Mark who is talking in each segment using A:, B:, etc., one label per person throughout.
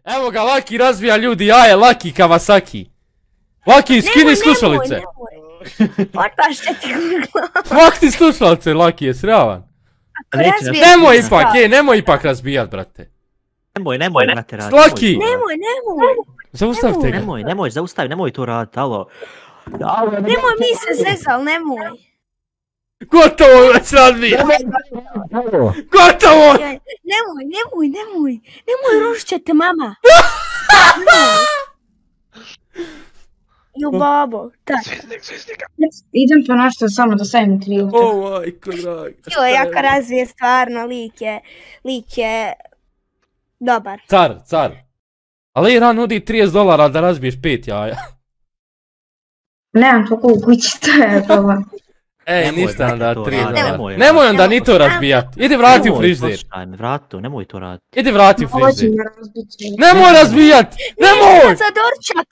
A: Evo ga, Laki razbija ljudi jaje, Laki Kawasaki. Laki, skini slušalice.
B: Otpaš će ti glavu.
A: Mak ti slušalice, Laki, je sravan. Nemoj ipak razbijat, brate.
C: Nemoj, brate, radi.
A: Laki!
B: Nemoj.
A: Zaustavite ga.
C: Nemoj, zaustavi, nemoj to radit, alo.
B: Nemoj, mi se zezal, nemoj.
A: Gotovo već razbija. Gotovo!
B: Nemoj, rušit će te mama. Jo, babo, tak.
D: Idem po nešto samo da stavim trilke.
A: O, majko draga.
B: Jo, jaka razvije stvarno, lik je dobar.
A: Car. Ali Iran nudi $30 da razbiješ 5 jaja.
D: Nemam toliko u kući, to je problem.
A: Ej, ništa nam da $3. Nemoj onda ni to razbijat. Idi vrati u frižder.
C: Nemoj to radit.
A: Idi vrati u frižder. Nemoj razbijat! Nemoj!
B: Za dorčak,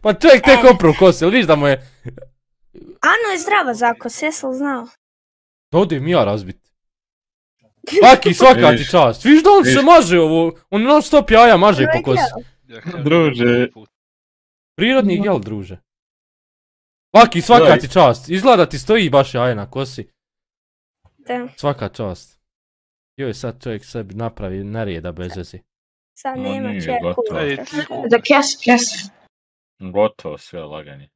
A: Pa čovjek tek opru kosu, vidiš da mu je...
B: Ano je zdrava zakos, jesli znao?
A: Da odim ja razbit. Laki, svaka ti čast. Viš da on se maže ovo, on non stop jaja maže po kosi.
E: Druže.
A: Prirodni jel, druže. Laki, svaka ti čast. Izgleda ti stoji baš jaje na kosi.
B: Da.
A: Svaka čast. Joj, sad čovjek sebi napravi nerijeda bez veze.
B: Sad nema
E: nije
B: čeku.
E: gotovo.
D: Da kes.
E: Gotovo sve laganje.